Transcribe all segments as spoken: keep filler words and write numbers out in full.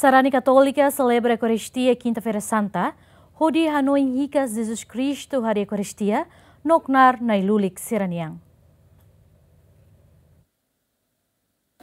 Sarani Katólika selebra Eukaristia Kinta-feira Santa, hodi hanoin hikas Jesus Kristu harii Eukaristia no knaar nai-lulik sira-nian.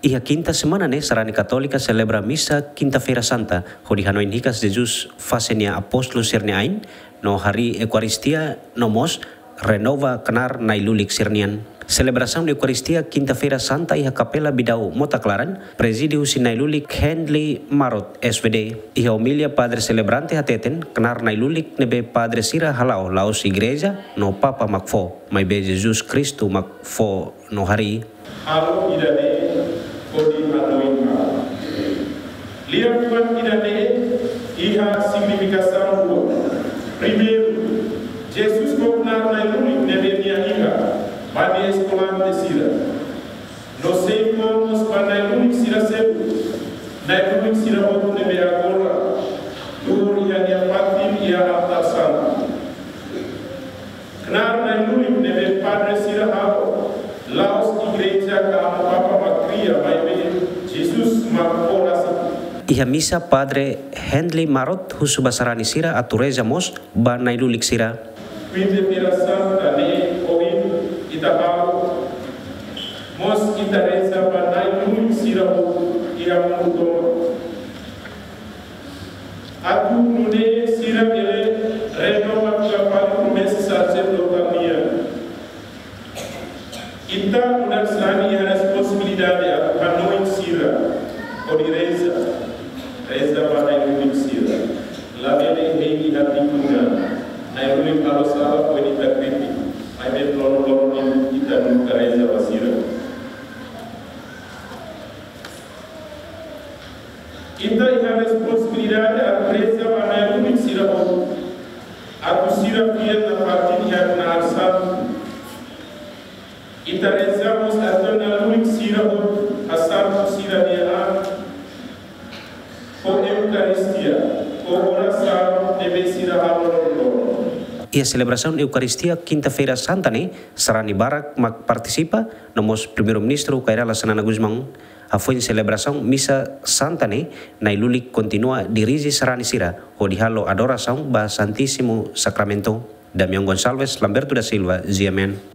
Iha kinta semana ne'e, sarani Katólika selebra misa Kinta-feira Santa, hodi hanoin hikas Jesus fase nia apóstolu sira-nia ain, no harii Eukaristia, no mós renova knaar nai-lulik sira-nian. Selebrasaun Eukaristia Kinta-feira Santa iha Kapela Bidau Mota Klaran, prezide husi nai-lulik Henley Marot, S V D. Iha omilia, padre selebrante hateten, knaar nai-lulik ne'ebé padre sira hala'o la'ós igreja no Papa mak fó, maibé Jesus Kristu mak fó no harii. Halo ida-ne'e hodi hanoin ha'u. Liafuan ida-ne'e iha signifikasaun rua. Primeiru, Jesus fó knaar nai-lulik ne'ebé nia iha ba nia eskolante sira. No sei fó mós ba nai-lulik sira seluk, nai-lulik sira hotu ne'ebé agora tuur iha nia fatin iha altár santu. Knaar nai-lulik ne'ebé padre sira halo, la'ós igreja ka Amu Papa mak kria, maibé Jesus mak fó rasik. Iha misa, padre Henley Marot husu ba sarani sira atu reza mós ba nai-lulik sira. Kinta-feira Santa ne'e ohin ita halo, mós ita reza ba nai-lulik sira hotu iha mundu tomak. Atu nune'e sira bele renova fila fali promesa saserdotál nian. Ita nu'udar sarani iha responsabilidade atu hanoin sira hodi reza, reza ba nai-lulik sira. Labele hein iha tikun an, nai-lulik halo sala foin ita kritika, maibé loron-loron ne'e ita nunka reza ba sira. Ita iha responsabilidade atu reza ba nai-lulik sira hotu, atu sira fiar nafatin iha knaar santu. Ita reza mós atu nai-lulik sira hotu hasantu sira-nia an ho Eukaristia, ho orasaun ne'ebé sira halo loron-loron. Iha selebrasaun Eukaristia Kinta-feira Santa ne'e, sarani barak mak partisipa, no mós Primeiru-Ministru Kay Rala Xanana Gusmão. Hafoin selebrasaun misa santa ne'e, nai-lulik kontinua dirije sarani sira hodi halo adorasaun ba Santísimu Sakramentu. Damião Gonçalves, Lamberto da Silva, G M N.